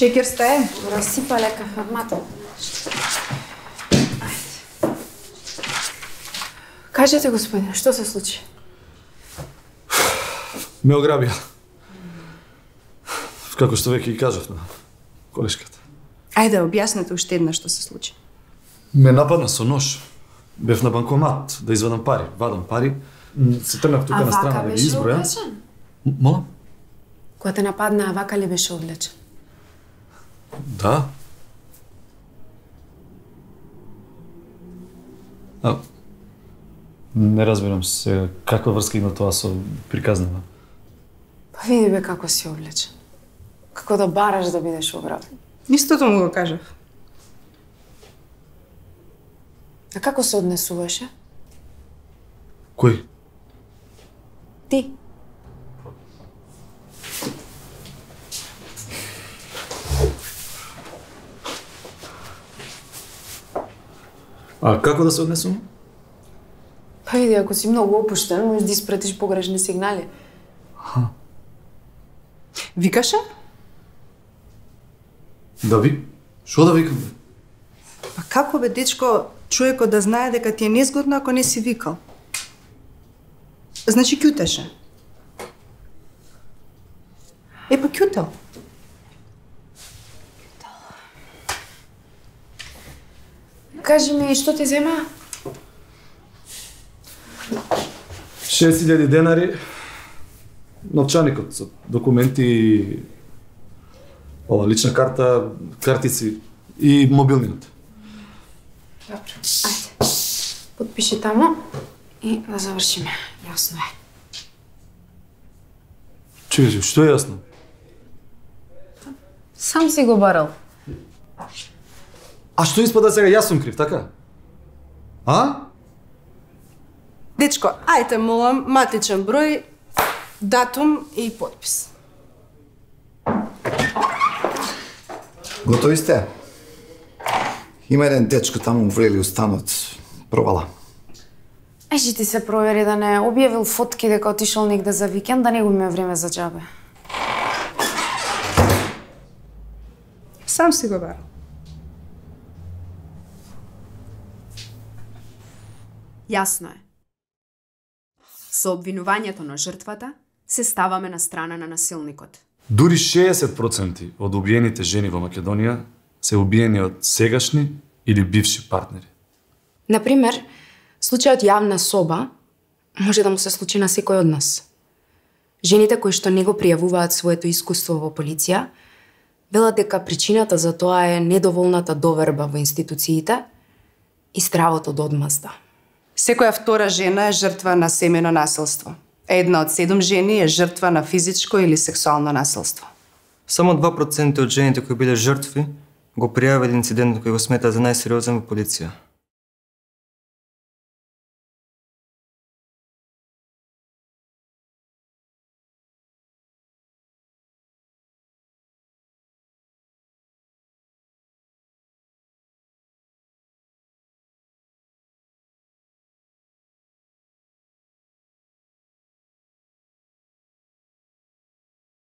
Шекер стае? Расипа лека, мата. Кажете, господине, што се случи? Ме ограбија. Како што веќе ги кажав на колешката. Ајде, објаснете уште една што се случи. Ме нападна со нож. Бев на банкомат да извадам пари. Вадам пари. Се трнав тука на страна да ги изброја. Молам? Кога те нападна, вака ли беше облечен? Да. Не разбирам се каква врска има тоа со приказнава. Па види бе како си облечен. Како да бараш да бидеш ограбен. Истото му го кажав. А како се однесуваше? Кој? Ти. А како да се однесувам? Па види, ако си многу опуштен, можеш да испратиш погрешни сигнали. Викаше? Да ви? Шо да викам? Па како бе, дечко, човекот да знае дека ти е незгодно ако не си викал? Значи ќутеше. Па ќутел. Кажи ми, што ти зема? 6.000 денари, новчаникот со документи и ова лична карта, картици и мобилниот. Добро, ајде. Подпиши тамо и да завршиме. Јасно е. Чуј, што е јасно? Сам си го барал. А што испада сега јас сум крив, така? А? Дечко, ајте молам, матичен број, датум и подпис. Готови сте? Има еден дечко таму врели устанот. Провала. Ежи ти се провери да не објавил фотки дека отишол негде за викенд, да не губиме време за џабе. Сам си го барал. Јасно е. Со обвинувањето на жртвата се ставаме на страна на насилникот. Дури 60% од убиените жени во Македонија се убиени од сегашни или бивши партнери. Например, случајот јавна соба може да му се случи на секој од нас. Жените кои што не го пријавуваат своето искуство во полиција, велат дека причината за тоа е недоволната доверба во институциите и стравот од одмазда. Секоја втора жена е жртва на семејно насилство. Една од 7 жени е жртва на физичко или сексуално насилство. Само 2% од жените кои биле жртви го пријавиле инцидентот кој го смета за најсериозен во полиција.